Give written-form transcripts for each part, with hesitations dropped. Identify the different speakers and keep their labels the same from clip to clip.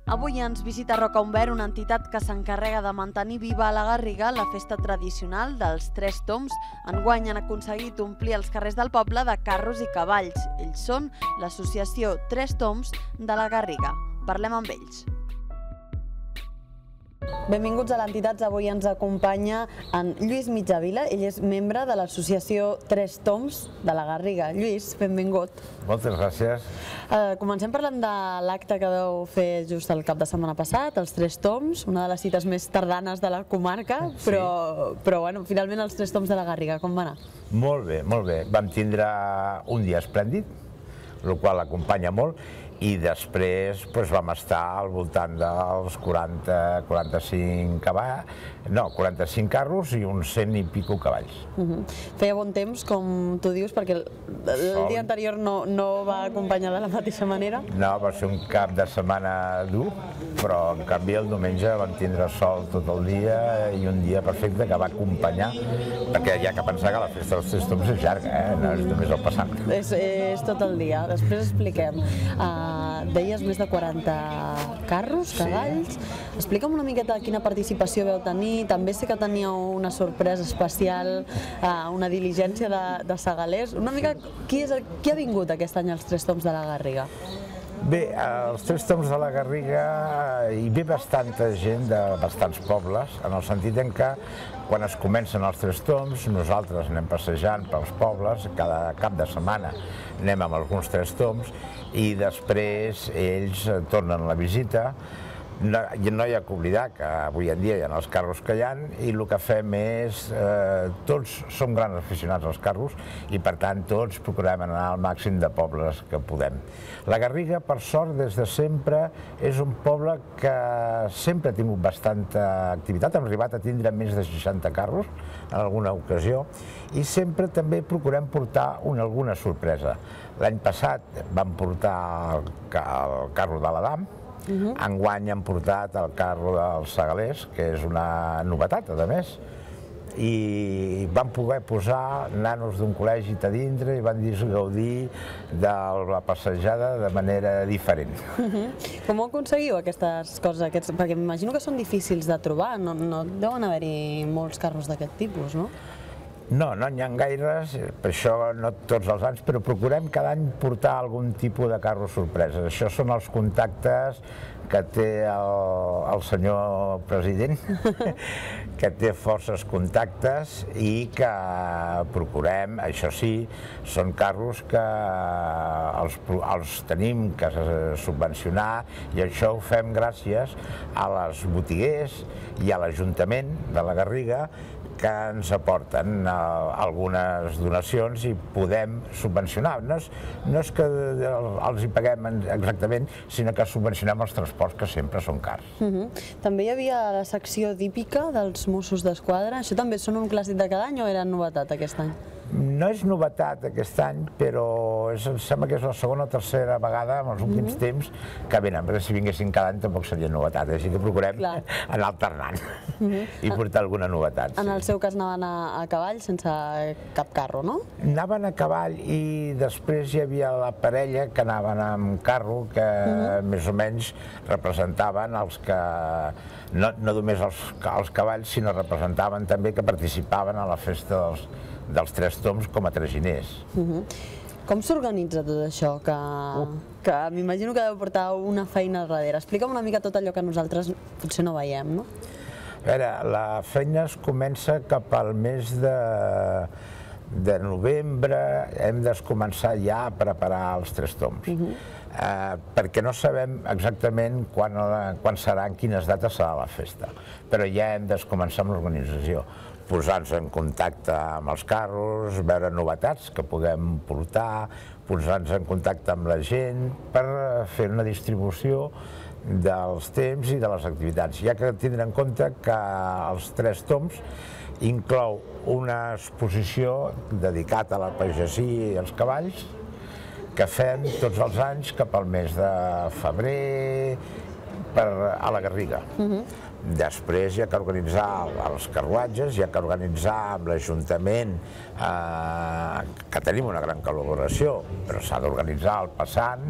Speaker 1: Avui ens visita Roca Umbert, una entitat que s'encarrega de mantenir viva a la Garriga la festa tradicional dels Tres Tombs. Enguany han aconseguit omplir els carrers del poble de carros i cavalls. Ells són l'associació Tres Tombs de la Garriga. Parlem amb ells. Benvinguts a l'entitat. Avui ens acompanya en Lluís Mitjavila. Ell és membre de l'associació Tres Tombs de la Garriga. Lluís, benvingut.
Speaker 2: Moltes gràcies.
Speaker 1: Comencem parlant de l'acte que vau fer just el cap de setmana passat, els Tres Tombs, una de les cites més tardanes de la comarca, però bueno, finalment els Tres Tombs de la Garriga, com va anar?
Speaker 2: Molt bé, molt bé. Vam tindre un dia esplèndid, el qual acompanya molt, i després vam estar al voltant dels 45 carros i uns 100 i pico cavalls.
Speaker 1: Feia bon temps, com tu dius, perquè el dia anterior no va acompanyar de la mateixa manera?
Speaker 2: No, va ser un cap de setmana dur, però en canvi el diumenge vam tindre sol tot el dia i un dia perfecte que va acompanyar, perquè hi ha que pensar que la festa dels Tres Tombs és llarga, no és només el passat.
Speaker 1: És tot el dia. Després expliquem. Deies més de 40 carros, cavalls. Explica'm una miqueta quina participació vau tenir. També sé que teníeu una sorpresa especial, una diligència de segalers. Una mica, qui ha vingut aquest any als Tres Tombs de la Garriga?
Speaker 2: Bé, als Tres Tombs de la Garriga hi ve bastanta gent de bastants pobles, en el sentit en què quan es comencen els Tres Tombs nosaltres anem passejant pels pobles, cada cap de setmana anem amb alguns Tres Tombs i després ells tornen la visita. No hi ha que oblidar que avui en dia hi ha els carros que hi ha i el que fem és, tots som grans aficionats als carros i per tant tots procurem anar al màxim de pobles que podem. La Garriga, per sort, des de sempre és un poble que sempre ha tingut bastanta activitat, hem arribat a tindre més de 60 carros en alguna ocasió i sempre també procurem portar alguna sorpresa. L'any passat vam portar el carro de l'Adam. Enguany hem portat el carro dels segalers, que és una novetat, a més, i vam poder posar nanos d'un col·legi a dintre i van gaudir de la passejada de manera diferent.
Speaker 1: Com ho aconseguiu aquestes coses? Perquè m'imagino que són difícils de trobar, no deuen haver-hi molts carros d'aquest tipus, no?
Speaker 2: No n'hi ha gaires, per això no tots els anys, però procurem cada any portar algun tipus de carro sorpresa. Això són els contactes que té el senyor president, que té forces contactes i que procurem, això sí, són carros que els tenim que subvencionar i això ho fem gràcies a les botiguers i a l'Ajuntament de la Garriga que ens aporten algunes donacions i podem subvencionar. No és que els hi paguem exactament, sinó que subvencionem els transports, que sempre són cars.
Speaker 1: També hi havia la secció d'hípica dels Mossos d'Esquadra. Això també són un clàssic de cada any o era novetat aquest any?
Speaker 2: No és novetat aquest any, però em sembla que és la segona o tercera vegada en els últims temps que venen, perquè si vinguessin cada any tampoc seria novetat, així que procurem anar alternant i portar alguna novetat.
Speaker 1: En el seu cas anaven a cavall sense cap carro, no?
Speaker 2: Anaven a cavall i després hi havia la parella que anaven amb carro que més o menys representaven els que, no només els cavalls, sinó representaven també que participaven a la festa dels Tres Tombs com a traginers.
Speaker 1: Com s'organitza tot això? Que m'imagino que deu portar una feina al darrere. Explica'm una mica tot allò que nosaltres potser no veiem, no?
Speaker 2: A veure, la feina es comença cap al mes de novembre, hem de començar ja a preparar els Tres Tombs, perquè no sabem exactament quan serà, en quines dates serà la festa, però ja hem de començar amb l'organització, posar-nos en contacte amb els carros, veure novetats que puguem portar, posar-nos en contacte amb la gent per fer una distribució dels temps i de les activitats. Hi ha que tindre en compte que els Tres Tombs inclou una exposició dedicada a la pagesia i als cavalls que fem tots els anys cap al mes de febrer a la Garriga. Després hi ha que organitzar els carruatges, hi ha que organitzar amb l'Ajuntament, que tenim una gran col·laboració, però s'ha d'organitzar el passant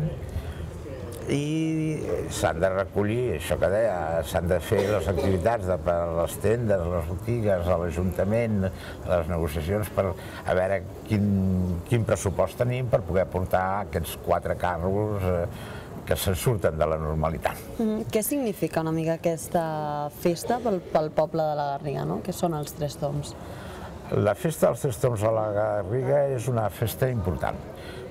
Speaker 2: i s'han de recollir, això que deia, s'han de fer les activitats per les tendes, les botigues, a l'Ajuntament, les negociacions per a veure quin pressupost tenim per poder portar aquests 4 carros que se surten de la normalitat.
Speaker 1: Què significa una mica aquesta festa pel poble de la Garriga, no? Què són els Tres Tombs?
Speaker 2: La festa dels Tres Tombs a la Garriga és una festa important,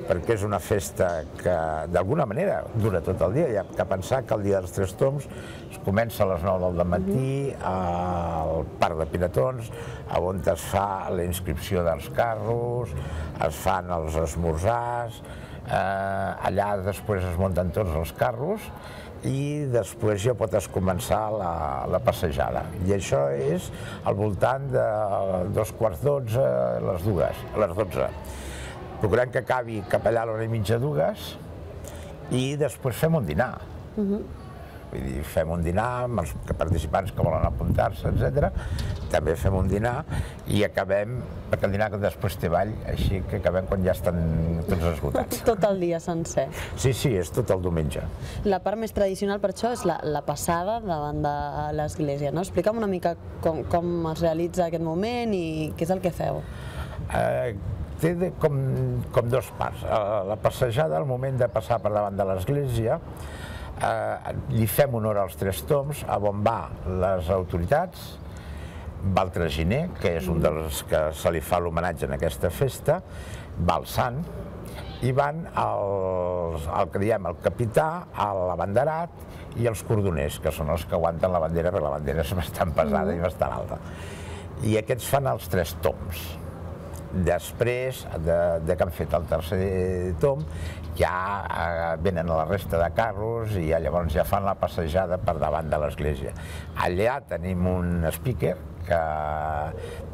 Speaker 2: perquè és una festa que d'alguna manera dura tot el dia. Hi ha que pensar que el dia dels Tres Tombs es comença a les 9 del matí al parc de Piratons, on es fa la inscripció dels carros, es fan els esmorzars, allà després es munten tots els carros i després ja pots començar la passejada. I això és al voltant de 2:15, les 12. Procurem que acabi cap allà a l'hora i mitja, 2, i després fem un dinar. Vull dir, fem un dinar amb els participants que volen apuntar-se, etc. També fem un dinar i acabem, perquè el dinar després té ball, així que acabem quan ja estan tots esgotats.
Speaker 1: Tot el dia sencer.
Speaker 2: Sí, és tot el diumenge.
Speaker 1: La part més tradicional per això és la passada davant de l'església, no? Explica'm una mica com es realitza aquest moment i què és el que feu.
Speaker 2: Té com 2 parts. La passejada, al moment de passar per davant de l'església, li fem honor als Tres Tombs, on va les autoritats, va el traginer, que és un dels que se li fa l'homenatge en aquesta festa, va el sant, i van el que diem el capità, l'abanderat i els cordoners, que són els que aguanten la bandera, perquè la bandera és bastant pesada i bastant alta. I aquests fan els Tres Tombs. Després que han fet el tercer tomb, ja venen a la resta de carros i llavors ja fan la passejada per davant de l'església. Allà tenim un speaker que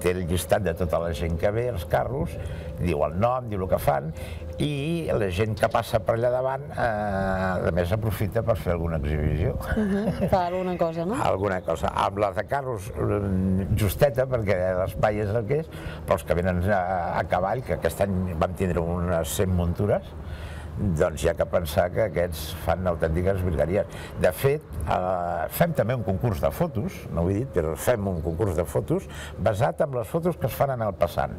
Speaker 2: té el llistat de tota la gent que ve, els carros, diu el nom, diu el que fan, i la gent que passa per allà davant, a més, aprofita per fer alguna exhibició.
Speaker 1: Fa alguna cosa, no?
Speaker 2: Alguna cosa. Amb la de carros, justeta, perquè l'espai és el que és, però els que venen a cavall, que aquest any vam tindre unes 100 muntures, doncs hi ha que pensar que aquests fan autèntiques virgueries. De fet, fem també un concurs de fotos, no ho he dit, però fem un concurs de fotos basat en les fotos que es fan en el passant.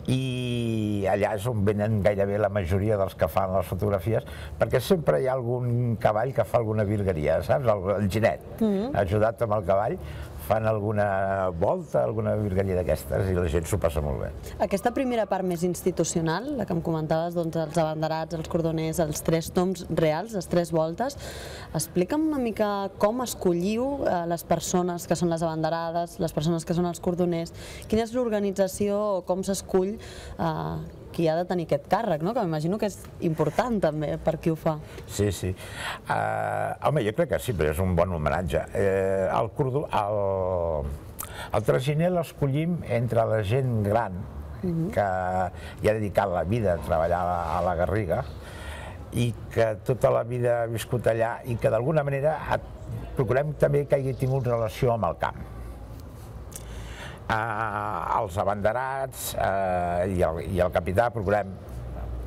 Speaker 2: I allà és on venen gairebé la majoria dels que fan les fotografies, perquè sempre hi ha algun cavall que fa alguna virgueria, saps? El ginet, ajudat amb el cavall, fan alguna volta, alguna virgueria d'aquestes, i la gent s'ho passa molt bé.
Speaker 1: Aquesta primera part més institucional, la que em comentaves, doncs, els abanderats, els cordoners, els Tres Tombs reals, les 3 voltes, explica'm una mica com escolliu les persones que són les abanderades, les persones que són els cordoners, quina és l'organització o com s'escull qui ha de tenir aquest càrrec, no? Que m'imagino que és important també per qui ho fa.
Speaker 2: Sí. Home, jo crec que sí, però és un bon homenatge. El traginer l'escollim entre la gent gran que hi ha dedicat la vida a treballar a la Garriga i que tota la vida ha viscut allà i que d'alguna manera procurem també que hagi tingut relació amb el camp. Els abanderats i el capità procurem,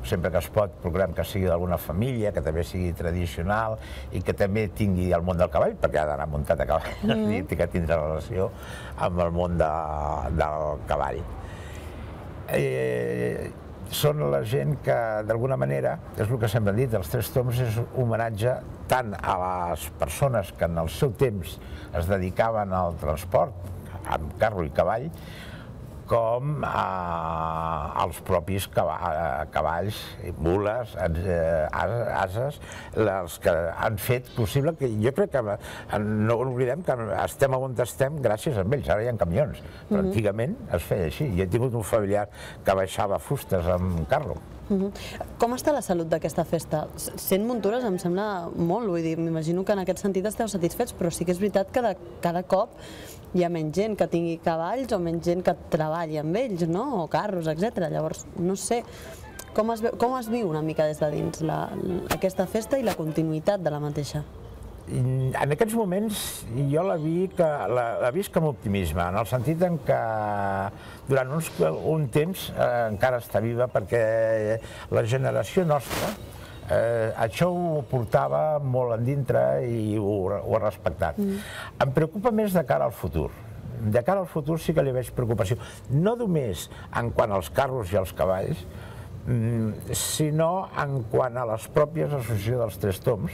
Speaker 2: sempre que es pot, procurem que sigui d'alguna família, que també sigui tradicional i que també tingui el món del cavall, perquè ha d'anar muntat a cavall, i que tindrà relació amb el món del cavall. Són la gent que, d'alguna manera, és el que sempre han dit, els Tres Tombs és un homenatge tant a les persones que en el seu temps es dedicaven al transport, amb carro i cavall, com als propis cavalls, mules, ases, els que han fet possible que jo crec que no oblidem que estem on estem gràcies a ells. Ara hi ha camions, però antigament es feia així. Jo he tingut un familiar que baixava fustes amb carro.
Speaker 1: Com està la salut d'aquesta festa? 100 muntures em sembla molt, vull dir, m'imagino que en aquest sentit esteu satisfets, però sí que és veritat que cada cop hi ha menys gent que tingui cavalls o menys gent que treballi amb ells, no? O carros, etc. Llavors, no sé, com es viu una mica des de dins aquesta festa i la continuïtat de la mateixa?
Speaker 2: En aquests moments jo la visc amb optimisme, en el sentit en què durant un temps encara està viva, perquè la generació nostra Això ho portava molt endintre i ho he respectat. Em preocupa més de cara al futur. De cara al futur sí que li veig preocupació. No només en quant als carros i als cavalls, sinó en quant a les pròpies associacions dels Tres Tombs,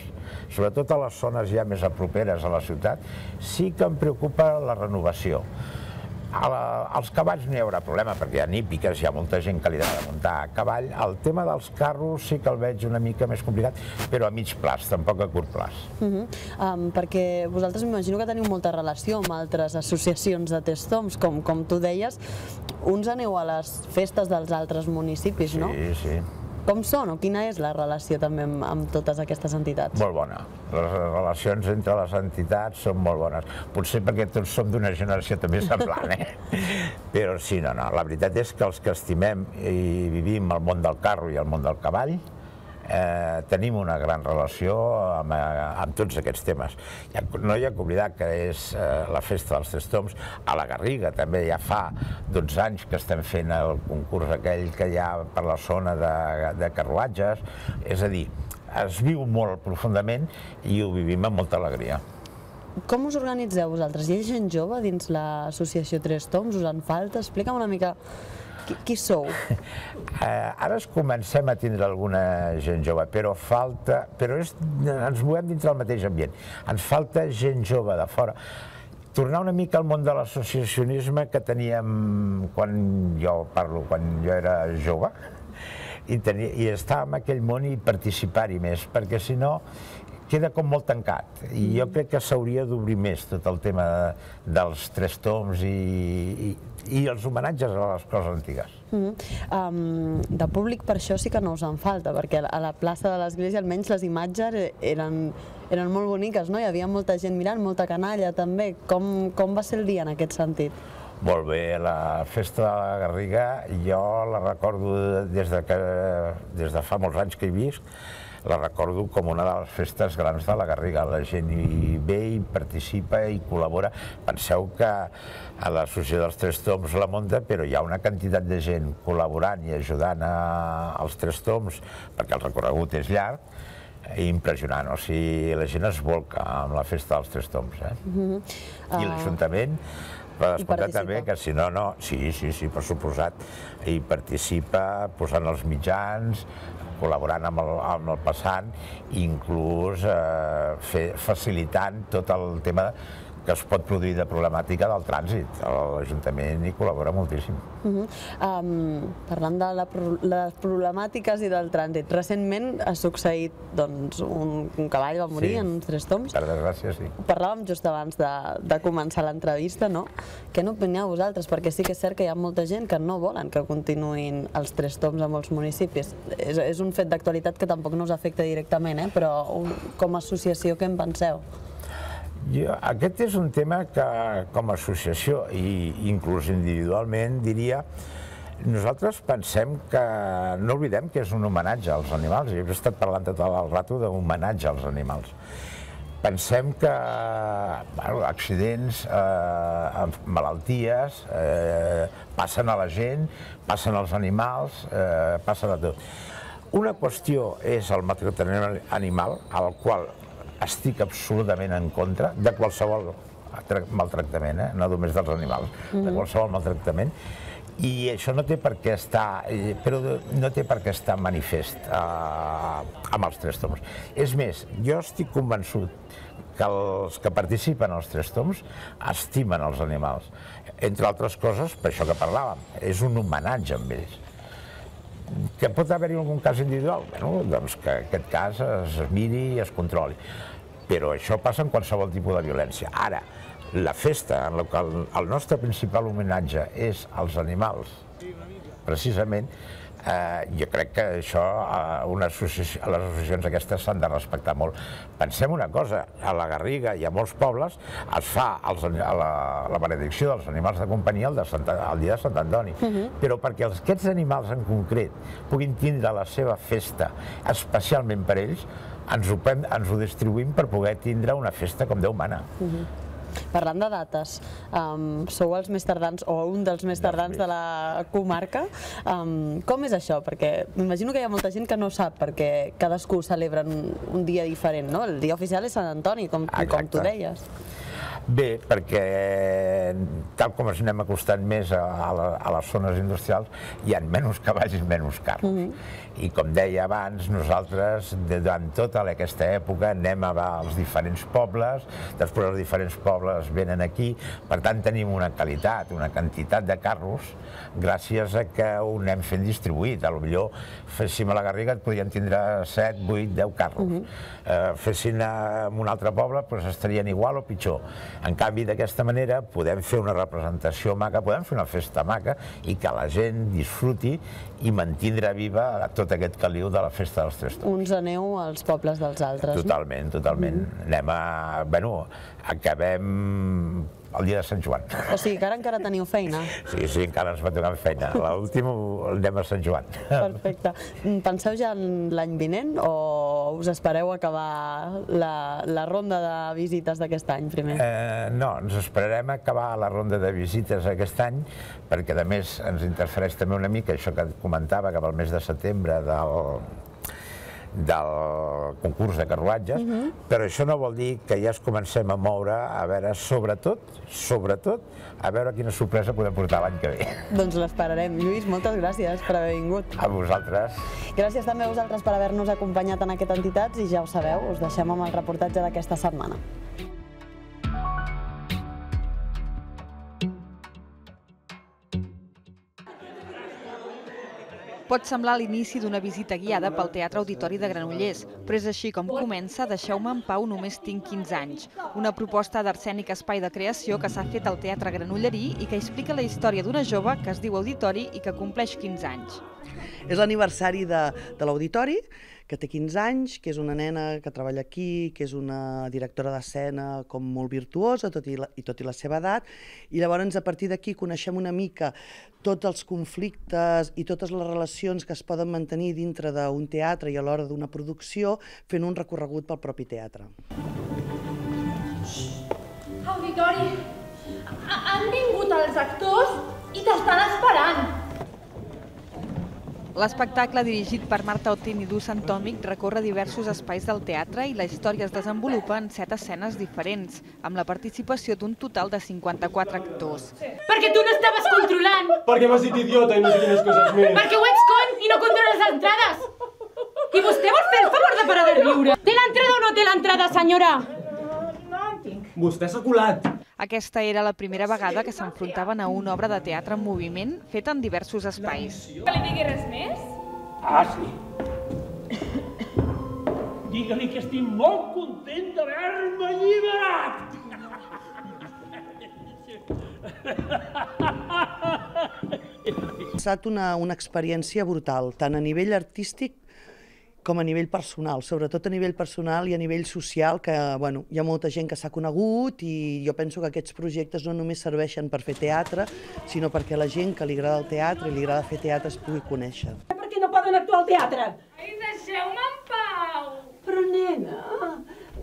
Speaker 2: sobretot a les zones ja més properes a la ciutat, sí que em preocupa la renovació. Als cavalls no hi haurà problema, perquè hi ha hípiques, hi ha molta gent que li ha de muntar a cavall. El tema dels carros sí que el veig una mica més complicat, però a mig plaç, tampoc a curt plaç.
Speaker 1: Perquè vosaltres m'imagino que teniu molta relació amb altres associacions de Tres Tombs, com tu deies, uns aneu a les festes dels altres municipis, no?
Speaker 2: Sí, sí.
Speaker 1: Com són o quina és la relació també amb totes aquestes entitats?
Speaker 2: Molt bona. Les relacions entre les entitats són molt bones. Potser perquè tots som d'una generació també semblant, Però sí, no. La veritat és que els que estimem i vivim el món del carro i el món del cavall tenim una gran relació amb tots aquests temes. No hi ha que oblidar que és la festa dels Tres Tombs. A la Garriga també ja fa 12 anys que estem fent el concurs aquell que hi ha per la zona de carruatges. És a dir, es viu molt profundament i ho vivim amb molta alegria.
Speaker 1: Com us organitzeu vosaltres? Hi ha gent jove dins l'associació Tres Tombs? Us en falta? Explica'm una mica qui sou.
Speaker 2: Ara comencem a tindre alguna gent jove, però ens movem dintre del mateix ambient. Ens falta gent jove de fora. Tornar una mica al món de l'associacionisme que teníem quan jo era jove, i estar en aquell món i participar-hi més, perquè si no queda com molt tancat, i jo crec que s'hauria d'obrir més tot el tema dels Tres Tombs i els homenatges a les coses antigues.
Speaker 1: De públic per això sí que no us en falta, perquè a la plaça de l'església almenys les imatges eren molt boniques, no? Hi havia molta gent mirant, molta canalla també. Com va ser el dia en aquest sentit?
Speaker 2: Molt bé, la festa de la Garriga jo la recordo des de fa molts anys que hi visc, la recordo com una de les festes grans de la Garriga. La gent hi ve, hi participa i col·labora. Penseu que a l'associació dels Tres Tombs la munta, però hi ha una quantitat de gent col·laborant i ajudant als Tres Tombs, perquè el recorregut és llarg, impressionant. O sigui, la gent es volca amb la festa dels Tres Tombs. I l'Ajuntament també, que si no, sí, per suposat, hi participa posant els mitjans, col·laborant amb el passant, inclús facilitant tot el tema que es pot produir de problemàtica del trànsit. L'Ajuntament hi col·labora moltíssim.
Speaker 1: Parlant de les problemàtiques i del trànsit, recentment ha succeït un cavall va morir en uns Tres Tombs.
Speaker 2: Per desgràcia, sí.
Speaker 1: Parlàvem just abans de començar l'entrevista, no? Què n'opineu vosaltres? Perquè sí que és cert que hi ha molta gent que no volen que continuïn els Tres Tombs a molts municipis. És un fet d'actualitat que tampoc no us afecta directament, però com a associació què en penseu?
Speaker 2: Aquest és un tema que, com a associació i inclús individualment, diria, nosaltres pensem que no oblidem que és un homenatge als animals. Jo he estat parlant tot el rato d'homenatge als animals. Pensem que accidents, malalties, passen a la gent, passen als animals, passen a tot. Una qüestió és el maltractament animal, al qual estic absolutament en contra de qualsevol maltractament, no només dels animals, de qualsevol maltractament, i això no té per què estar manifest amb els Tres Tombs. És més, jo estic convençut que els que participen als Tres Tombs estimen els animals. Entre altres coses, per això que parlàvem, és un homenatge amb ells. Que pot haver-hi algun cas individual? Doncs que aquest cas es miri i es controli. Però això passa en qualsevol tipus de violència. Ara, la festa en la qual el nostre principal homenatge és als animals, precisament, jo crec que això les associacions aquestes s'han de respectar molt. Pensem una cosa, a la Garriga i a molts pobles es fa la benedicció dels animals de companyia el dia de Sant Antoni, però perquè aquests animals en concret puguin tindre la seva festa especialment per ells, ens ho distribuïm per poder tindre una festa com Déu mana.
Speaker 1: Parlant de dates, sou els més tardans o un dels més tardans de la comarca. Com és això? Perquè m'imagino que hi ha molta gent que no sap perquè cadascú celebra un dia diferent, no? El dia oficial és Sant Antoni, com tu deies.
Speaker 2: Bé, perquè tal com ens anem acostant més a les zones industrials, hi ha menys cavalls i menys carros. I com deia abans, nosaltres, durant tota aquesta època, anem als diferents pobles, després els diferents pobles venen aquí, per tant tenim una qualitat, una quantitat de carros, gràcies a que ho anem fent distribuït. Potser féssim a la Garriga et podríem tindre 7, 8, 10 carros. Fessin en un altre poble, estarien igual o pitjor. En canvi, d'aquesta manera podem fer una representació maca, podem fer una festa maca i que la gent disfruti i mantindre viva tot aquest caliu de la festa dels Tres Tombs.
Speaker 1: Uns aneu als pobles dels altres, no?
Speaker 2: Totalment, totalment. Acabem el dia de Sant Joan.
Speaker 1: O sigui que ara encara teniu feina.
Speaker 2: Sí, encara ens va tocar feina. L'últim anem a Sant Joan.
Speaker 1: Perfecte. Penseu ja en l'any vinent o us espereu acabar la ronda de visites d'aquest any primer?
Speaker 2: No, ens esperarem acabar la ronda de visites aquest any perquè a més ens interfereix també una mica això que et comentava, que pel mes de setembre del concurs de carruatges, però això no vol dir que ja es comencem a moure, a veure, sobretot, a veure quina sorpresa podem portar l'any que ve.
Speaker 1: Doncs l'esperarem. Lluís, moltes gràcies per haver vingut.
Speaker 2: A vosaltres.
Speaker 1: Gràcies també a vosaltres per haver-nos acompanyat en aquest Entitats i ja ho sabeu, us deixem amb el reportatge d'aquesta setmana.
Speaker 3: Pot semblar l'inici d'una visita guiada pel Teatre Auditori de Granollers, però és així com comença Deixeu-me en pau, només tinc 15 anys. Una proposta d'Arcènic Espai de Creació que s'ha fet al Teatre Granollerí i que explica la història d'una jove que es diu Auditori i que compleix 15 anys.
Speaker 4: És l'aniversari de l'Auditori, que té 15 anys, que és una nena que treballa aquí, que és una directora d'escena com molt virtuosa, tot i la seva edat, i llavors a partir d'aquí coneixem una mica tots els conflictes i totes les relacions que es poden mantenir dintre d'un teatre i a l'hora d'una producció, fent un recorregut pel propi teatre.
Speaker 5: Auditori, han vingut els actors i t'estan esperant.
Speaker 3: L'espectacle, dirigit per Marta Otín i Du Santòmic, recorre diversos espais del teatre i la història es desenvolupa en 7 escenes diferents, amb la participació d'un total de 54 actors.
Speaker 5: Perquè tu no estaves controlant!
Speaker 6: Perquè m'has dit idiota i no sé quines coses més!
Speaker 5: Perquè ho ets con i no controles les entrades! I vostè vol fer el favor de parar de riure? Té l'entrada o no té l'entrada, senyora? No en tinc.
Speaker 6: Vostè s'ha colat!
Speaker 3: Aquesta era la primera vegada que s'enfrontaven a una obra de teatre en moviment feta en diversos espais.
Speaker 5: Que li digui res més?
Speaker 7: Ah, sí. Digue-li que estic molt content d'haver-me alliberat.
Speaker 4: Ha estat una experiència brutal, tant a nivell artístic com a nivell personal, sobretot a nivell personal i a nivell social, que hi ha molta gent que s'ha conegut i jo penso que aquests projectes no només serveixen per fer teatre, sinó perquè la gent que li agrada el teatre i li agrada fer teatre es pugui conèixer.
Speaker 8: Per què no poden actuar al teatre?
Speaker 5: Ai, deixeu-me en pau!
Speaker 8: Però, nena,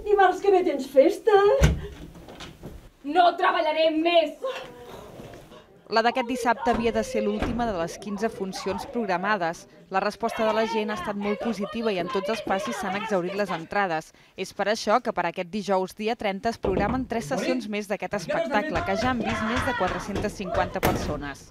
Speaker 8: dimarts que ve tens festa.
Speaker 5: No treballaré més!
Speaker 3: La d'aquest dissabte havia de ser l'última de les 15 funcions programades. La resposta de la gent ha estat molt positiva i en tots els passis s'han exhaurit les entrades. És per això que per aquest dijous, dia 30, es programen 3 sessions més d'aquest espectacle, que ja han vist més de 450 persones.